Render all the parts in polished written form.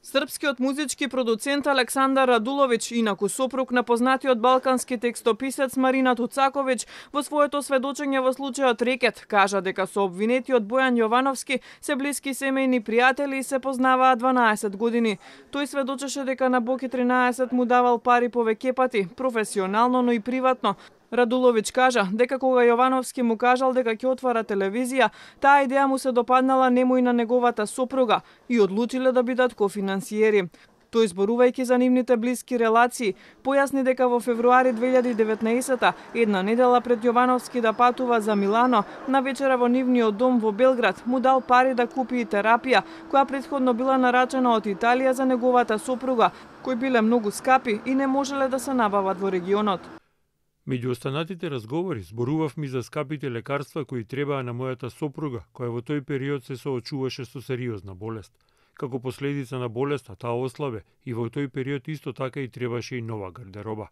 Српскиот музички продуцент Александар Радуловиќ, инаку сопруг на познатиот балкански текстописец Марина Туцаковиќ, во своето сведочење во случајот Рекет, кажа дека со обвинетиот Бојан Јовановски се блиски семејни пријатели и се познаваат 12 години. Тој сведочеше дека на Боки 13 му давал пари повеќе пати, професионално, но и приватно. Радуловиќ кажа дека кога Јовановски му кажал дека ќе отвара телевизија, таа идеја му се допаднала нему и на неговата сопруга и одлучиле да бидат кофинансиери. Тој, зборувајќи за нивните блиски релации, појасни дека во февруари 2019 една недела пред Јовановски да патува за Милано, на вечера во нивниот дом во Белград му дал пари да купи и терапија, која претходно била нарачена од Италија за неговата сопруга, кои биле многу скапи и не можеле да се набават во регионот. Меѓу останатите разговори зборувавме за скапите лекарства кои требаа на мојата сопруга, која во тој период се соочуваше со сериозна болест. Како последица на болеста, таа ослабе и во тој период исто така и требаше и нова гардероба.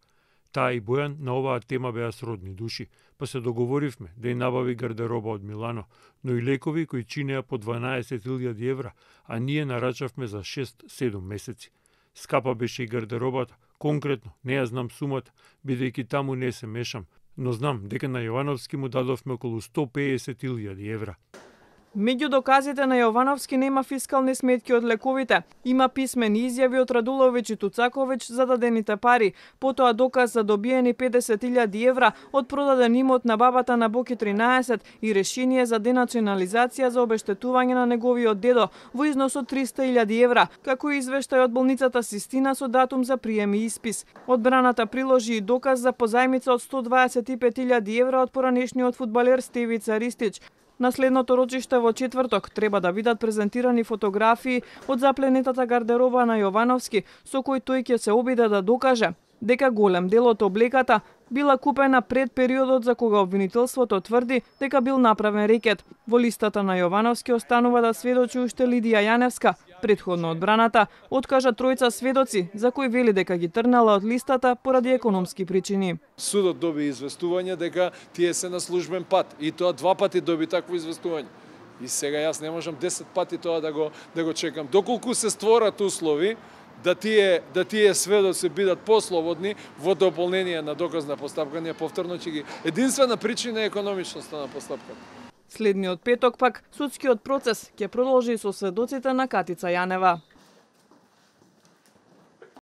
Таа и Бојан на оваа тема беа сродни души, па се договоривме да ја набави гардероба од Милано, но и лекови кои чинеа по 12.000 евра, а ние нарачавме за 6-7 месеци. Скапа беше и гардеробата. Конкретно, не ја знам сумата, бидејќи таму не се мешам, но знам дека на Јовановски му дадовме околу 150.000 евра. Меѓу доказите на Јовановски нема фискални сметки од лековите. Има писмени изјави од Радуловиќ и Туцаковиќ за дадените пари, потоа доказ за добиени 50.000 евра од продаден имот на бабата на Боки 13 и решение за денационализација за обештетување на неговиот дедо во износ од 300.000 евра, како и извештај од болницата Систина со датум за прием и испис. Одбраната приложи и доказ за позајмица од 125.000 евра од поранешниот фудбалер Стевица Ристич. На следното рочиште во четврток треба да бидат презентирани фотографии од запленетата гардероба на Јовановски, со кој тој ќе се обиде да докаже дека голем дел од облеката била купена пред периодот за кога обвинителството тврди дека бил направен рекет. Во листата на Јовановски останува да сведочи уште Лидија Јаневска. Претходно одбраната откажа тројца сведоци за кои вели дека ги трнала од листата поради економски причини. Судот доби известување дека тие се на службен пат и тоа 2 пати доби такво известување. И сега јас не можам 10 пати тоа да го чекам. Доколку се створат услови да тие сведоци бидат послободни во дополнение на доказна постапка, ние повторно ќе ги единствена причина е економичноста на постапката. Следниот петок пак судскиот процес ќе продолжи со сведоците на Катица Јанева.